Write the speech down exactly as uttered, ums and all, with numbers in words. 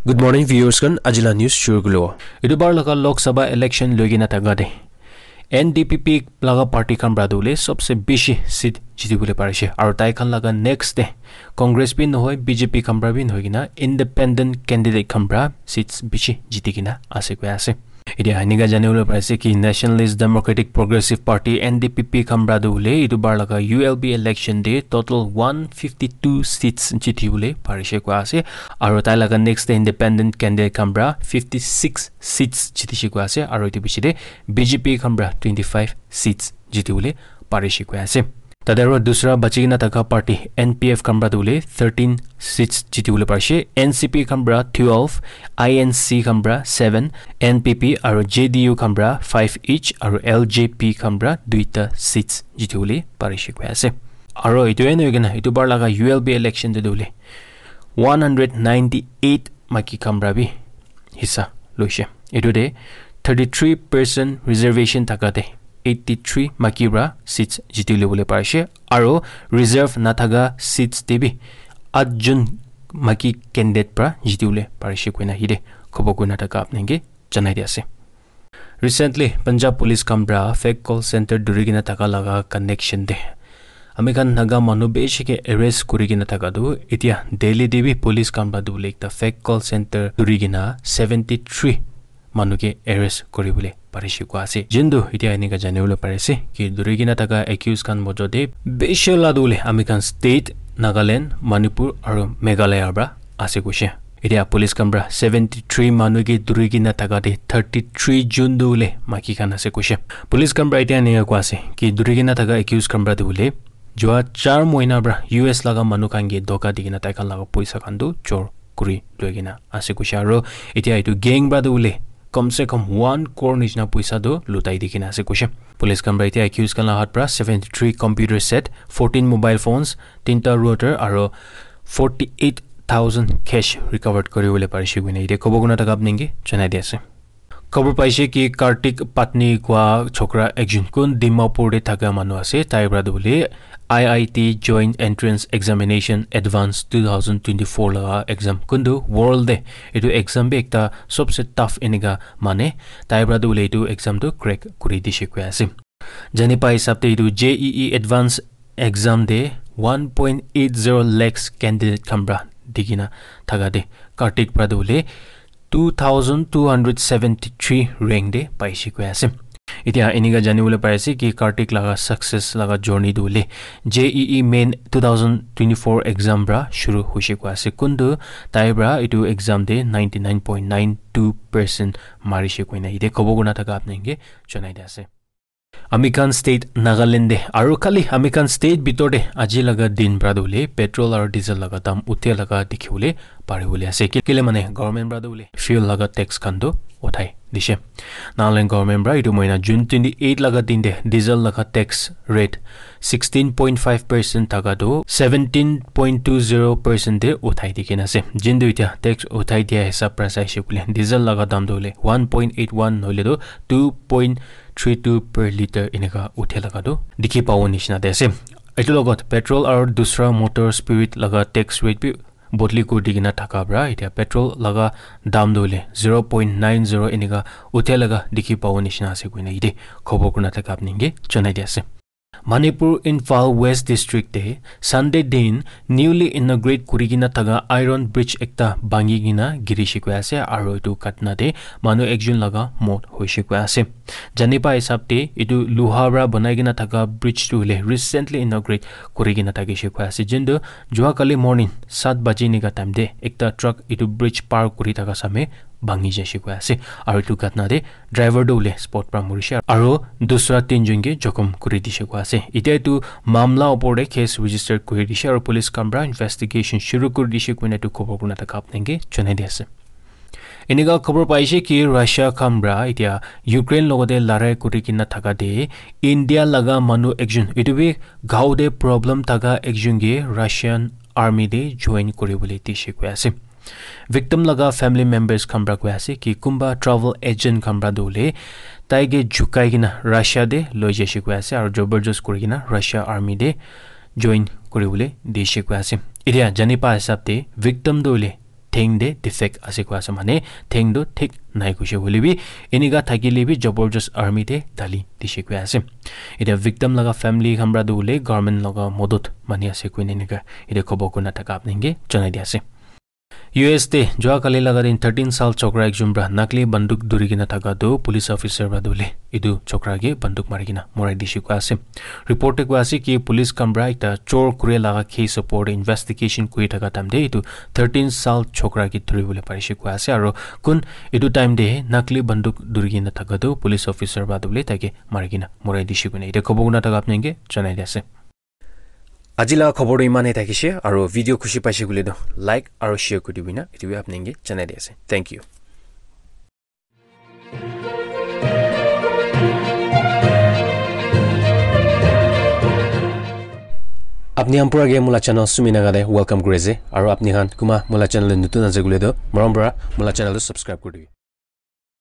Good morning, viewers khan. Ajila news shuru kulo. Etu bar laga Lok Sabha election loi kena thaka de N D P P laga party khan pra tu le sobse bishi seat jiti bole parise. Aru tai khan laga next de Congress bi nohoi, B J P khan pra bi nohoi kena independent candidate khan pra seats bishi jiti kena ase koi ase. Etia enika jani bole parise ki Nationalist Democratic Progressive Party, N D P P, khan pra tu le etu bar laga U L B election de total one fifty two seats jiti bole parise koi ase. Aru tai laga next de independent candidate khan pra fifty six seats jitise koi ase. Aru etu piche de B J P khan pra twenty five seats jiti bole parise koi ase. Tate aru dusra bachi kena thaka party N P F khan pra tu le thirteen seats jiti bole parise. N C P khan pra twelve, I N C khan pra seven, N P P aru J D U khan pra five each aru L J P khan pra duita seats jiti bole parise koi ase. Aru etu ena hoi kena etu bar laga U L B election de tu le one hundred ninety eight maki khan pra bi hissa loise. Etu de thirty three percent reservation thaka de eighty three maki pra seats jiti le bole parise. Aru reserve na thaka seats de bi at jun maki candidate pra jiti bole parise koi na hi de khobo koi na thaka apni ke janai di ase. Recently, Punjab police khan pra fake call center duri kena thaka laga connection de ami khan Naga manu bishi ke arrest kuri kena thaka tu etia Delhi de bi police khan pra tu le ekta fake call center duri kena seventy three manu ke arrest kuri bole parise koi ase. Jintu etia enika jani bole parise ki duri kena thaka accused khan mojo de bishi la tu le ami khan state Nagaland, Manipur aru Meghalaya pra ase koise. Etia police khan pra seventy three manu ke duri kena thaka de thirty three jun tu le maki khan ase koise. Police khan pra etia enika koi ase ki duri kena thaka accused khan pra tu le jua char mohina pra U S laga manu khan ke dhoka di kena tai khan laga poisa khan tu chor kuri loi kena ase koise. Aru etia etu gang pra tu le kam se kam one crore nishina poisa tu lutai di kena ase koise. Police khan pra etia accused khan la hat pra seventy three computer set, fourteen mobile phones, tinta router aru forty eight thousand cash recovered kuri bole parise koi na etia khobo koi na thaka apni ke janai di ase. Khobor paise ki Kartik Patni kua chokra ekjon kun Dimapur de thaka manu ase, tai pra tu bole I I T Joint Entrance Examination Advance two thousand twenty-four laga exam kuntu world de etu exam bi ekta sobse tough enika mane, tai pra tu bole etu exam tu crack kuri dise koi ase. Jani pa hisab te etu J E E Advance exam de one point eight zero lakhs candidate khan pra di kena thaka de Kartik pra tu bole two thousand two hundred seventy three rank de paise koi ase. Etia enika jani bole parise ki Kartik laga success laga journey tu le J E E main two thousand twenty-four exam pra shuru hoise koi ase. Kuntu tai pra etu exam de ninety nine point nine two percent marise koi na etia khobo koi na thaka apni ke janai di ase. Ami khan state Nagaland de aru khali ami khan state bitor de aji laga din pra tu le petrol aru diesel laga dam uthia laga dikhi bole pari bole ase. Ki-, kile mane government pra tu le fuel laga tax khan tu uthai dise. Nagaland government pra etu mohina June twenty eight laga din de diesel laga tax rate sixteen point five percent thaka tu seventeen point two zero percent de uthai di kena ase. Jintu etia tax uthai dia hisab pra saise koi le diesel laga dam tu le one point eight one nohole tu two point three two per litre enika uthia laga tu dikhi pabo nishina de ase. Etu logot petrol aru dusra motor spirit laga tax rate bi bodli kuri di kena thaka pra etia petrol laga dam tu le zero point nine zero enika uthia laga dikhi pabo nishina ase koi na etia khobo koi na thaka apni ke janai di ase. Manipur Imphal West District te Sunday din newly inaugurate kuri kena thaka iron bridge ekta bhangi kena girise koi ase aru etu ghatna te manu ekjon laga mot hoise koi ase. Jani pa hisab te etu luha pra banai kena thaka bridge tu hoile recently inaugurate kuri kena thakise koi ase. Jintu jua kali morning sat baji enika time te ekta truck etu bridge par kuri thaka same bhangi jaise koi ase. Aru etu ghatna te driver tu hoile spot pra morise aru dusra tinjon ke jokhom kuri dise koi ase. Etia etu mamla opor te case register kuri dise aru police khan pra investigation shuru kuri dise koi na etu khobor koi na thaka apni ke janai di ase. Enika khobor paise ki Russia khan pra etia Ukraine logote larai kuri kena thaka te India laga manu ekjon etu bi gao te problem thaka ekjon ke Russian army te join kuri bole dise koi ase. Victim laga family members khan pra koi ase ki kunba travel agent khan pra tu hoile tai ke jukai kena Russia te loi jaise koi ase aru jabardast kuri kena Russia army te join kuri bole dise koi ase. Etia jani pa hisab te victim tu hoile theng te defect ase koi ase, mane theng tu thik nai koise hoile bi enika thakile bi jabardast army te dali dise koi ase. Etia victim laga family khan para tu hoile government laga modot mani ase koina enika etia khobor kuna thaka apni ke janai di ase. U S te jua kali laga din thirteen sal chokra ekjon para nakli banduk duri kena thaka tu police officer para tu hoile etu chokra ke banduk mari kena morai dise koi ase. Report te koi ase ki police khan para ekta chor kure laga case opor te investigation kuri thaka time te etu thirteen sal chokra ke dhuri bole parise koi ase, aro kun etu time te nakli banduk dhuri kena thaka tu police officer para tu hoile tai ke mari kena morai dise koina etia khobor kuna thaka apni ke janai di ase. Aji laga khobor tu iman he thakise, aro video khushi paise koile tu like aro share kuri dibi na etu bi apni ke janai di ase. Thank you. Apni khan pura ke mola channel Sumi Naga te welcome kuri ase, aro apni khan kuma mola channel te nutun ase koile tu morom para mola channel tu subscribe kuri dibi.